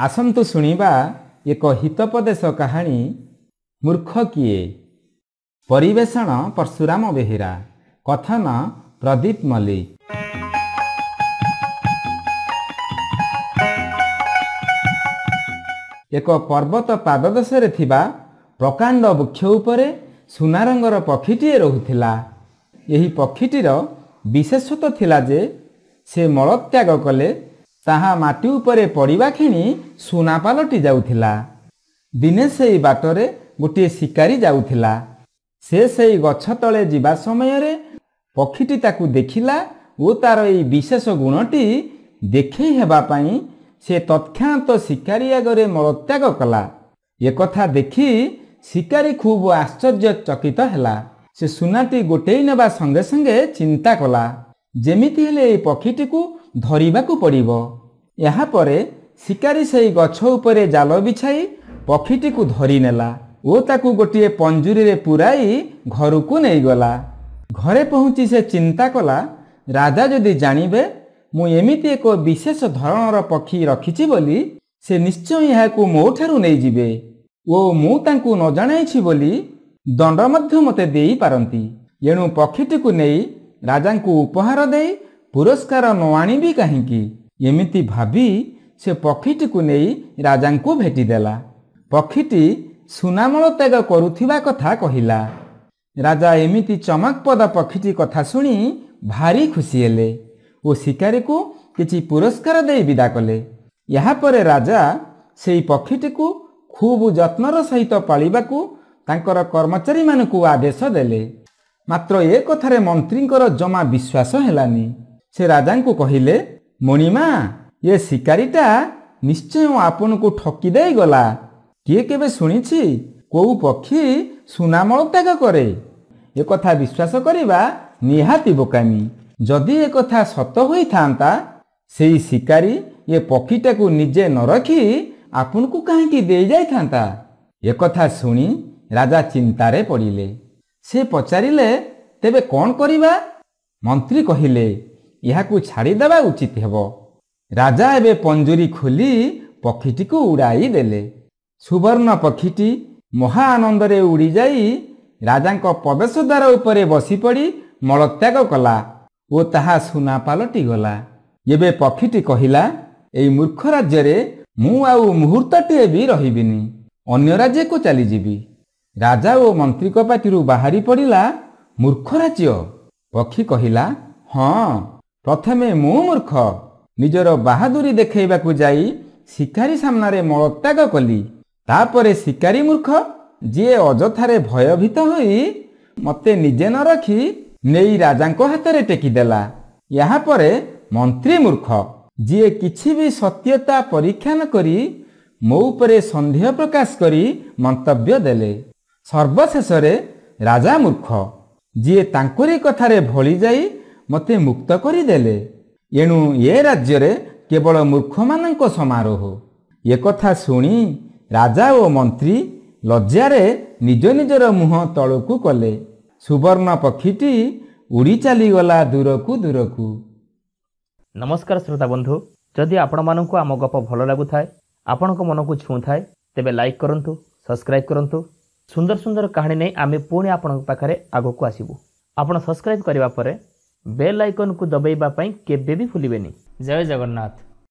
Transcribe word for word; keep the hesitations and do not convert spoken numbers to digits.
ଆସନ୍ତୁ ଶୁଣିବା ଏକ ହିତୋପଦେଶ କାହାଣୀ, ମୂର୍ଖ କିଏ। ପରିବେଷଣ ପରଶୁରାମ ବେହେରା, କଥନ ପ୍ରଦୀପ ମଲ୍ଲିକ। ଏକ ପର୍ବତ ପାଦଦେଶରେ ଥିବା ପ୍ରକାଣ୍ଡ ବୃକ୍ଷ ଉପରେ ସୁନା ରଙ୍ଗର ପକ୍ଷୀଟିଏ ରହୁଥିଲା। ଏହି ପକ୍ଷୀଟିର ବିଶେଷତ୍ୱ ଥିଲା ଯେ ସେ ମଳତ୍ୟାଗ କଲେ ତାହା ମାଟି ଉପରେ ପଡ଼ିବା କ୍ଷଣି ସୁନା ପାଲଟି ଯାଉଥିଲା। ଦିନେ ସେଇ ବାଟରେ ଗୋଟିଏ ଶିକାରୀ ଯାଉଥିଲା। ସେ ସେଇ ଗଛ ତଳେ ଯିବା ସମୟରେ ପକ୍ଷୀଟି ତାକୁ ଦେଖିଲା ଓ ତାର ଏଇ ବିଶେଷ ଗୁଣଟି ଦେଖେଇ ହେବା ପାଇଁ ସେ ତତ୍କ୍ଷଣାତ ଶିକାରୀ ଆଗରେ ମଳତ୍ୟାଗ କଲା। ଏକଥା ଦେଖି ଶିକାରୀ ଖୁବ୍ ଆଶ୍ଚର୍ଯ୍ୟଚକିତ ହେଲା। ସେ ସୁନାଟି ଗୋଟେଇ ନେବା ସଙ୍ଗେ ସଙ୍ଗେ ଚିନ୍ତା କଲା, ଯେମିତି ହେଲେ ଏଇ ପକ୍ଷୀଟିକୁ ଧରିବାକୁ ପଡ଼ିବ। ଏହାପରେ ଶିକାରୀ ସେଇ ଗଛ ଉପରେ ଜାଲ ବିଛାଇ ପକ୍ଷୀଟିକୁ ଧରିନେଲା ଓ ତାକୁ ଗୋଟିଏ ପଞ୍ଜୁରୀରେ ପୂରାଇ ଘରକୁ ନେଇଗଲା। ଘରେ ପହଞ୍ଚି ସେ ଚିନ୍ତା କଲା, ରାଜା ଯଦି ଜାଣିବେ ମୁଁ ଏମିତି ଏକ ବିଶେଷ ଧରଣର ପକ୍ଷୀ ରଖିଛି ବୋଲି, ସେ ନିଶ୍ଚୟ ଏହାକୁ ମୋ ଠାରୁ ନେଇଯିବେ ଓ ମୁଁ ତାଙ୍କୁ ନ ଜଣାଇଛି ବୋଲି ଦଣ୍ଡ ମଧ୍ୟ ମୋତେ ଦେଇପାରନ୍ତି। ଏଣୁ ପକ୍ଷୀଟିକୁ ନେଇ ରାଜାଙ୍କୁ ଉପହାର ଦେଇ ପୁରସ୍କାର ନ ଆଣିବି କାହିଁକି? ଏମିତି ଭାବି ସେ ପକ୍ଷୀଟିକୁ ନେଇ ରାଜାଙ୍କୁ ଭେଟିଦେଲା। ପକ୍ଷୀଟି ସୁନାମଳ ତ୍ୟାଗ କରୁଥିବା କଥା କହିଲା। ରାଜା ଏମିତି ଚମକପ୍ରଦ ପକ୍ଷୀଟି କଥା ଶୁଣି ଭାରି ଖୁସି ହେଲେ ଓ ଶିକାରୀକୁ କିଛି ପୁରସ୍କାର ଦେଇ ବିଦା କଲେ। ଏହାପରେ ରାଜା ସେଇ ପକ୍ଷୀଟିକୁ ଖୁବ୍ ଯତ୍ନର ସହିତ ପାଳିବାକୁ ତାଙ୍କର କର୍ମଚାରୀମାନଙ୍କୁ ଆଦେଶ ଦେଲେ। ମାତ୍ର ଏ କଥାରେ ମନ୍ତ୍ରୀଙ୍କର ଜମା ବିଶ୍ୱାସ ହେଲାନି। ସେ ରାଜାଙ୍କୁ କହିଲେ, ମଣିମା, ଏ ଶିକାରୀଟା ନିଶ୍ଚୟ ଆପଣଙ୍କୁ ଠକି ଦେଇଗଲା। କିଏ କେବେ ଶୁଣିଛି କୋଉ ପକ୍ଷୀ ସୁନାମଳ ତ୍ୟାଗ କରେ? ଏକଥା ବିଶ୍ୱାସ କରିବା ନିହାତି ବୋକାମି। ଯଦି ଏକଥା ସତ ହୋଇଥାନ୍ତା, ସେଇ ଶିକାରୀ ଏ ପକ୍ଷୀଟାକୁ ନିଜେ ନ ରଖି ଆପଣଙ୍କୁ କାହିଁକି ଦେଇଯାଇଥାନ୍ତା? ଏକଥା ଶୁଣି ରାଜା ଚିନ୍ତାରେ ପଡ଼ିଲେ। ସେ ପଚାରିଲେ, ତେବେ କ'ଣ କରିବା? ମନ୍ତ୍ରୀ କହିଲେ, ଏହାକୁ ଛାଡ଼ିଦେବା ଉଚିତ ହେବ। ରାଜା ଏବେ ପଞ୍ଜୁରୀ ଖୋଲି ପକ୍ଷୀଟିକୁ ଉଡ଼ାଇ ଦେଲେ। ସୁବର୍ଣ୍ଣ ପକ୍ଷୀଟି ମହା ଆନନ୍ଦରେ ଉଡ଼ିଯାଇ ରାଜାଙ୍କ ପ୍ରବେଶ ଦ୍ୱାର ଉପରେ ବସିପଡ଼ି ମଳତ୍ୟାଗ କଲା ଓ ତାହା ସୁନା ପାଲଟିଗଲା। ଏବେ ପକ୍ଷୀଟି କହିଲା, ଏଇ ମୂର୍ଖ ରାଜ୍ୟରେ ମୁଁ ଆଉ ମୁହୂର୍ତ୍ତଟିଏ ବି ରହିବିନି, ଅନ୍ୟ ରାଜ୍ୟକୁ ଚାଲିଯିବି। ରାଜା ଓ ମନ୍ତ୍ରୀଙ୍କ ପାଟିରୁ ବାହାରି ପଡ଼ିଲା, ମୂର୍ଖ ରାଜ୍ୟ? ପକ୍ଷୀ କହିଲା, ହଁ, ପ୍ରଥମେ ମୁଁ ମୂର୍ଖ, ନିଜର ବାହାଦୁରୀ ଦେଖାଇବାକୁ ଯାଇ ଶିକାରୀ ସାମ୍ନାରେ ମଳତ୍ୟାଗ କଲି। ତାପରେ ଶିକାରୀ ମୂର୍ଖ, ଯିଏ ଅଯଥାରେ ଭୟଭୀତ ହୋଇ ମୋତେ ନିଜେ ନ ରଖି ନେଇ ରାଜାଙ୍କ ହାତରେ ଟେକିଦେଲା। ଏହାପରେ ମନ୍ତ୍ରୀ ମୂର୍ଖ, ଯିଏ କିଛି ବି ସତ୍ୟତା ପରୀକ୍ଷା ନ କରି ମୋ ଉପରେ ସନ୍ଦେହ ପ୍ରକାଶ କରି ମନ୍ତବ୍ୟ ଦେଲେ। ସର୍ବଶେଷରେ ରାଜା ମୂର୍ଖ, ଯିଏ ତାଙ୍କରି କଥାରେ ଭଳି ଯାଇ ମୋତେ ମୁକ୍ତ କରିଦେଲେ। ଏଣୁ ଏ ରାଜ୍ୟରେ କେବଳ ମୂର୍ଖମାନଙ୍କ ସମାରୋହ। ଏକଥା ଶୁଣି ରାଜା ଓ ମନ୍ତ୍ରୀ ଲଜ୍ଜାରେ ନିଜ ନିଜର ମୁହଁ ତଳକୁ କଲେ। ସୁବର୍ଣ୍ଣ ପକ୍ଷୀଟି ଉଡ଼ି ଚାଲିଗଲା ଦୂରକୁ ଦୂରକୁ। ନମସ୍କାର ଶ୍ରୋତା ବନ୍ଧୁ, ଯଦି ଆପଣମାନଙ୍କୁ ଆମ ଗପ ଭଲ ଲାଗୁଥାଏ, ଆପଣଙ୍କ ମନକୁ ଛୁଉଁଥାଏ, ତେବେ ଲାଇକ୍ କରନ୍ତୁ, ସବସ୍କ୍ରାଇବ୍ କରନ୍ତୁ। ସୁନ୍ଦର ସୁନ୍ଦର କାହାଣୀ ନେଇ ଆମେ ପୁଣି ଆପଣଙ୍କ ପାଖରେ ଆଗକୁ ଆସିବୁ। ଆପଣ ସବସ୍କ୍ରାଇବ୍ କରିବା ପରେ ବେଲ୍ ଆଇକନ୍କୁ ଦବାଇବା ପାଇଁ କେବେ ବି ଭୁଲିବେନି। ଜୟ ଜଗନ୍ନାଥ।